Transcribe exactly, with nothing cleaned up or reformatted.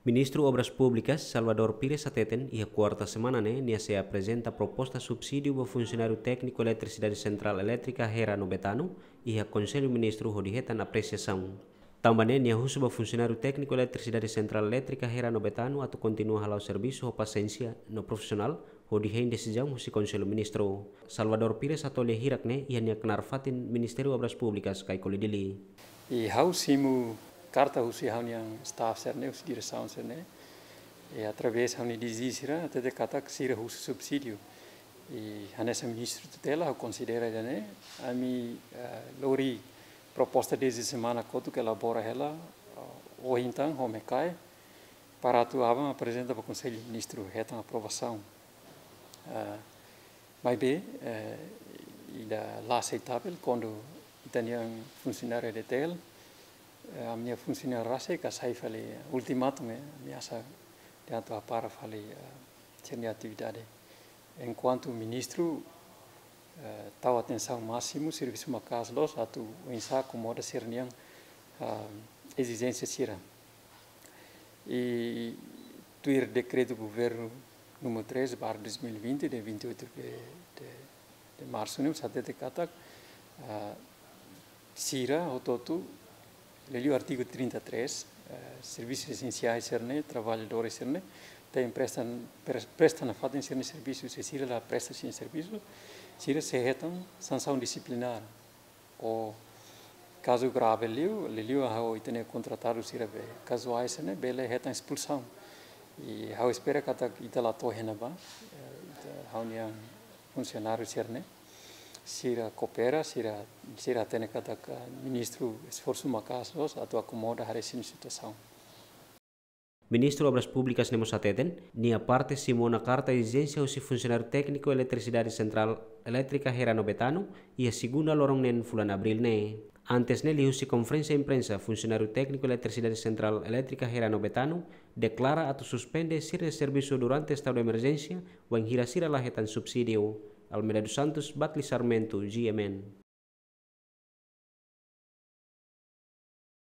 Ministru Obras Públikas, Salvador Pires hateten, iha kuarta semana ne'e, nia sei aprezenta proposta subsídiu ba funsionáriu tékniku Eletrisidade Sentrál Elétrika Hera no Betano, iha Konsellu Ministru hodi hetan apresiasaun. Tanba ne'e, nia husu ba funsionáriu tékniku Eletrisidade Sentrál Elétrika Hera no Betano atu kontinua hala'o servisu ho pasiénsia no profisionál, hodi hein desizaun husi Konsellu Ministru. Salvador Pires hato'o lia hirak ne'e iha nia knaar fatin Ministériu Obras Públikas, Caicoli, Dili. I ha'u simu karta husi ha'u-nia staff sira-ne'e, husi diresaun sira-ne'e. I através ha'u-nia D G sira, hatete katak sira husu subsídiu. I hanesan ministru tutela, ha'u konsidera ida-ne'e, ami, eh, lori proposta dezde semana kotuk elabora hela, eh, ohin tan, ho mekai, para atu aban aprezenta ba Konsellu Ministru hetan aprovasaun. Ah, maibé, eh, ida la aseitável kuandu ita-nia funsionáriu E D T L, eh, ami-nia funsionáriu rasik ka sai fali ultimatum, eh, ameasa de atu hapara fali, eh, sira-nia atividade. Enkuantu ministru, eh, tau atensaun másimu, servisu maka'as loos, atu oinsá akomoda sira-nia, ah, ezijénsia sira. I tuir dekretu governu número três barra dois mil e vinte, de vinte e oito de, de, de março, ne'e, hatete katak, ah, sira, hotu-hotu, liuliu artigu trinta e três, eh, servisus esensiais sira-ne'e, traballadores sira-ne'e, tenke presta, pres-, presta nafatin sira-nia servisu, se sira la presta sira-nia servisu, sira sei hetan sansaun disiplinár. Ou kazu grave liu, liuliu ha'u ita-nia kontratadu sira be kazuais ne'e, bele hetan espulsaun. I ha'u espera katak ita la to'o iha ne'ebá, eh, ita, ha'u-nia funsionáriu sira-ne'e, sira koopera, sira, sira hatene katak, eh, ministru esforsu maka'as loos atu akomoda haree sira-nia situasaun. Ministru Obras Públikas ne'e mós hateten, nia parte simu ona karta ezijénsia husi funsionáriu tékniku Eletrisidade Sentrál Elétrika Hera no Betano, iha segunda loron neen fulan Abríl ne'e. Antes ne'e, liuhusi konferénsia imprensa, funsionáriu tékniku Eletrisidade Sentrál Elétrika Hera no Betano deklara atu suspende sira-nia servisu durante estadu de emerjénsia, wainhira sira la hetan subsídiu. Almeida dos Santos, Batli Sarmento, G M N.